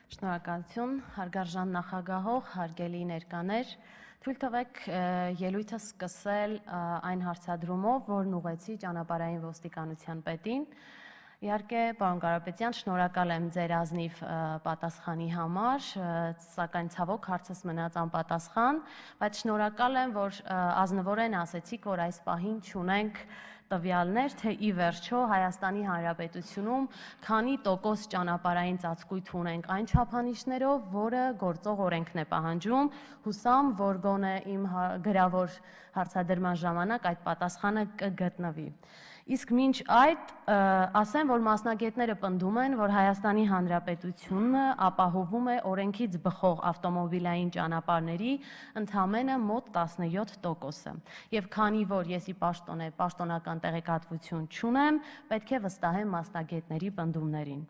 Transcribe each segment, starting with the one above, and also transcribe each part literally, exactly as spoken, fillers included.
Շնորհակալություն, հարգարժան նախագահող, հարգելի ներկաներ, թույլ տվեք ելույթը սկսել այն հարցադրումով, որն ուղղեցի ճանապարհային ոստիկանության պետին։ Իհարկե, պարոն Կարապետյան, շնորհակալ եմ ձեր ազնիվ պատասխանի համար, սակայն ցավոք հարցս մնաց անպատասխան, բայց շնորհակալ եմ, որ ազնվորեն ասեցիք, որ այս պահին չունենք տվյալներ, թե ի վերջո Հայաստանի Հանրապետությունում քանի տոկոս ճանապարհային ծածկույթ ունենք այն չափանիշներով, որը գործող օրենքն է պահանջում, հուսամ, որ գոնե իմ գրավոր հարցադրման ժամանակ այդ պատասխանը կգտնվի։ Իսկ մինչ այդ ասեմ, որ մասնագետները պնդում են, որ Հայաստանի Հանրապետությունը ապահովում է օրենքից բխող ավտոմոբիլային ճանապարհների ընդամենը մոտ տասնյոթ տոկոսը։ Եվ քանի որ ես ի պաշտոնե պաշտոնական տեղեկատվություն չունեմ, պետք է վստահեմ մասնագետների պնդումներին։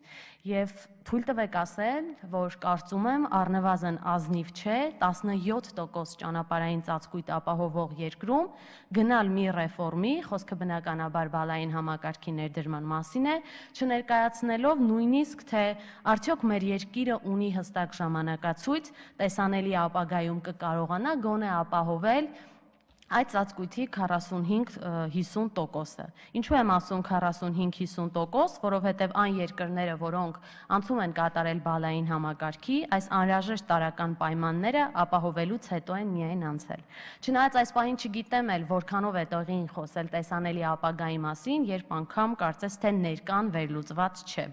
Եվ թույլ տվեք ասել, որ կարծում եմ առնվազն ազնիվ չէ տասնյոթ տոկոս ճանապարհային ծածկույթ ապահովող երկրում գնալ մի ռեֆորմի, խոսքը բնականաբար բալային համակարգի ներդրման մասին է, չներկայացնելով նույնիսկ թե արդյոք մեր երկիրը ունի հստակ ժամանակացույց, տեսանելի ապագայում կկարողանա գոնե ապահովել այդ ծածկույթի քառասունհինգ հիսուն տոկոսը։ Ինչու եմ ասում քառասունհինգ հիսուն տոկոս, որովհետև այն երկրները, որոնք անցում են կատարել բալային համակարգի, այս անհրաժեշտ տարրական պայմանները ապահովելուց հետո են միայն անցել։ Չնայած այս պահին չգիտեմ էլ որքանով է տեղին խոսել տեսանելի ապագայի մասին, երբ անգամ կարծես թե ներկան վերլուծված չէ։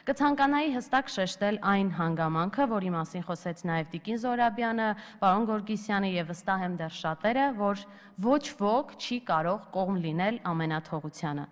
Կցանկանայի հստակ շեշտել այն հանգամանքը, որի մասին խոսեց նաև Տիկին Զոհրաբյանը, պարոն Գորգիսյանը եւ վստահ եմ դեռ շատերը, որ ոչ ոք չի կարող կողմ լինել ամենաթողությանը։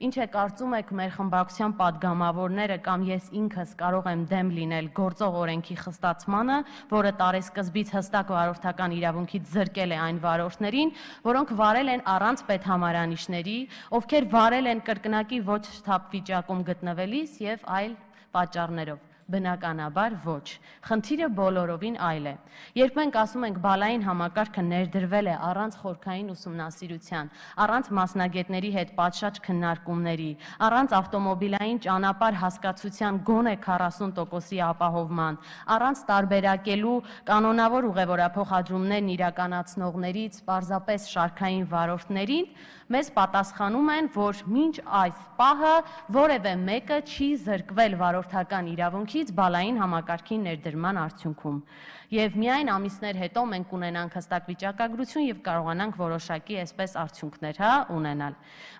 Ինչ է կարծում եք մեր խմբակցության падգամավորները կամ ես ինքս կարող եմ դեմ լինել գործող օրենքի խստացմանը, որը տարեսկզբից հստակ վարորդական իրավունքից զրկել է այն վարորդներին, որոնք վարել են առանց պետհամարանիշների, ովքեր վարել են կրկնակի ոչ շթափ վիճակում գտնվելիս եւ այլ պատճառներով։ Բնականաբար ոչ։ Խնդիրը բոլորովին այլ է։ Երբ մենք ասում ենք բալային համակարգը ներդրվել է առանց խորքային ուսումնասիրության, առանց մասնագետների հետ պատշաճ քննարկումների, առանց ավտոմոբիլային ճանապարհ հասկացության գոնե քառասուն տոկոսի ապահովման, առանց տարբերակելու կանոնավոր ուղևորափոխադրումներն իրականացնողներից պարզապես շարքային վարորդներին, մեզ պատասխանում են, որ մինչ այս պահը որևէ մեկը չի զրկվել վարորդական իրավունքից բալային համակարգի ներդրման արդյունքում։ Եվ միայն ամիսներ հետո մենք ունենանք հստակ վիճակագրություն եւ կարողանանք որոշակի այսպես արդյունքներ հա ունենալ։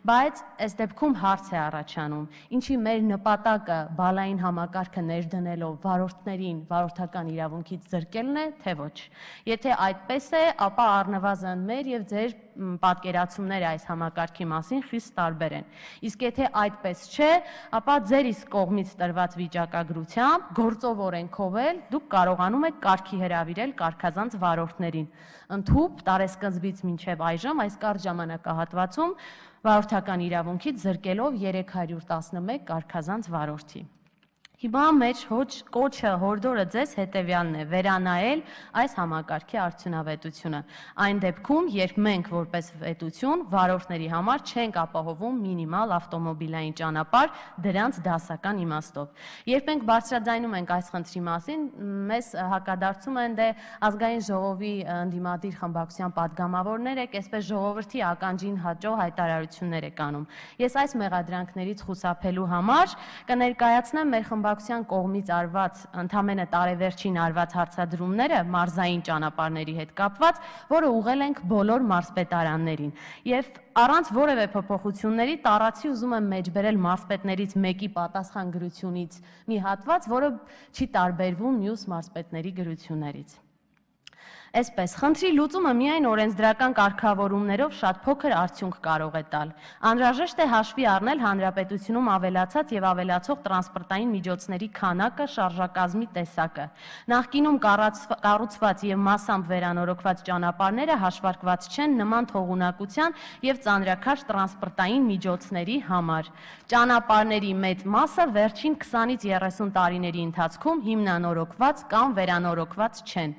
Բայց այս դեպքում հարց է առաջանում, ինչի մեր նպատակը բալային համակարգը ներդնելով վարորդներին վարորդական իրավունքից զրկելն է, թե ոչ։ Եթե այդպես է, ապա առնվազն մեր եւ ձեր պատկերացումները այս համակարգի մասին խիստ տարբեր են։ Իսկ եթե այդպես չէ, ապա ձեր իսկ կողմից տրված վիճակագրությամբ գործով օրենքով էլ դուք կարողանում եք կարգի հրավիրել կարգազանց վարորդներին։ Ընդհուպ տարեսկզբից մինչև այժմ այս կարճ ժամանակահատվածում վարորդական իրավունքից զրկելով երեք հարյուր տասնմեկ կարգազանց վարորդի։ Հիմա մեր կոչը հորդորը ձեզ հետևյալն է՝ վերանայել այս համակարգի արդյունավետությունը։ Այն դեպքում, երբ մենք որպես պետություն վարորդների համար չենք ապահովում մինիմալ ավտոմոբիլային ճանապարհ դրանց դասական իմաստով։ Երբ մենք բարձրաձայնում ենք այս խնդրի մասին, մեզ հակադարձում են դե ազգային ժողովի ընդդիմադիր խմբակցության падգամավորներ եք, այսպես ժողովրդի ականջին հաճո հայտարարություններ եք անում։ Ես այս մեղադրանքներից խուսափելու համար կներկայացնեմ մեր խմբակցության կողմից արված ընդամենը տարեվերջին արված հարցադրումները մարզային ճանապարհների հետ կապված, որը ուղղել ենք բոլոր մարզպետարաններին։ Եվ առանց որևէ փոփոխությունների տառացի ուզում եմ մեջբերել մարզպետներից մեկի պատասխան գրությունից մի հատված, որը չի տարբերվում մյուս մարզպետների գրություններից։ Այսպես, խնդրի լուծումը միայն օրենսդրական կարգավորումներով շատ փոքր արդյունք կարող է տալ։ Անհրաժեշտ է հաշվի առնել հանրապետությունում ավելացած եւ ավելացող տրանսպորտային միջոցների քանակը, շարժակազմի տեսակը։ Նախկինում կառուցված եւ մասամբ վերանորոգված ճանապարհները հաշվարկված չեն նման թողունակության եւ ծանրաքաշ տրանսպորտային միջոցների համար։ Ճանապարհների մեծ մասը վերջին քսանից երեսուն տարիների ընթացքում հիմնանորոգված կամ վերանորոգված չեն։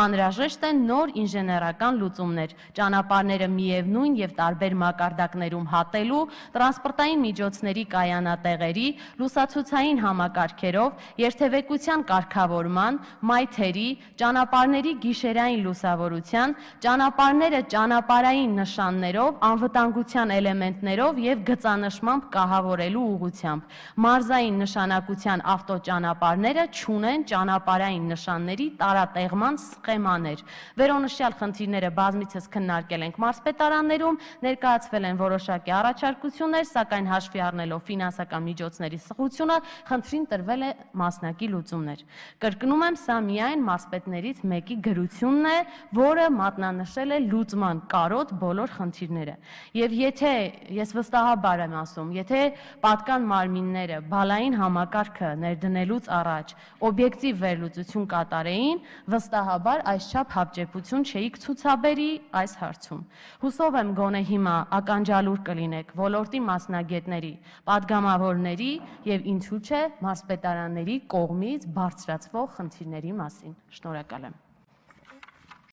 Անհրաժեշտ անհրաժեշտ են նոր ինժեներական լուծումներ, ճանապարհները միևնույն եւ տարբեր մակարդակներում հատելու, տրանսպորտային միջոցների կայանատեղերի, լուսացուցային համակարգերով, երթևեկության կարգավորման, մայթերի, ճանապարհների գիշերային լուսավորության, ճանապարհները ճանապարհային նշաններով, անվտանգության էլեմենտներով եւ գծանշմամբ կահավորելու ուղղությամբ։ Մարզային նշանակության ավտոճանապարհները չունեն ճանապարհային նշանների տարատեղման սխեմաներ։ Վերոնշյալ խնդիրները բազմիցս քննարկել ենք մարզպետարաններում, ներկայացվել են որոշակի առաջարկություններ, սակայն հաշվի առնելով ֆինանսական միջոցների սղությունը, խնդրին տրվել է մասնակի լուծումներ։ Կրկնում եմ, սա միայն մարզպետներից մեկի գրությունն է, որը մատնանշել է լուծման կարոտ բոլոր խնդիրները։ Եվ եթե, ես վստահաբար եմ ասում, եթե պատկան մարմինները բալային համակարգը ներդնելուց առաջ օբյեկտիվ վերլուծություն կատարեին, վստահաբար այսչափ հապճեպություն չէիք ցուցաբերի այս հարցում։ Հուսով եմ գոնե հիմա ականջալուր կլինեք ոլորտի մասնագետների, պատգամավորների եւ ինչու՞ չէ մարզպետարանների կողմից բարձրացվող խնդիրների մասին։ Շնորհակալ եմ։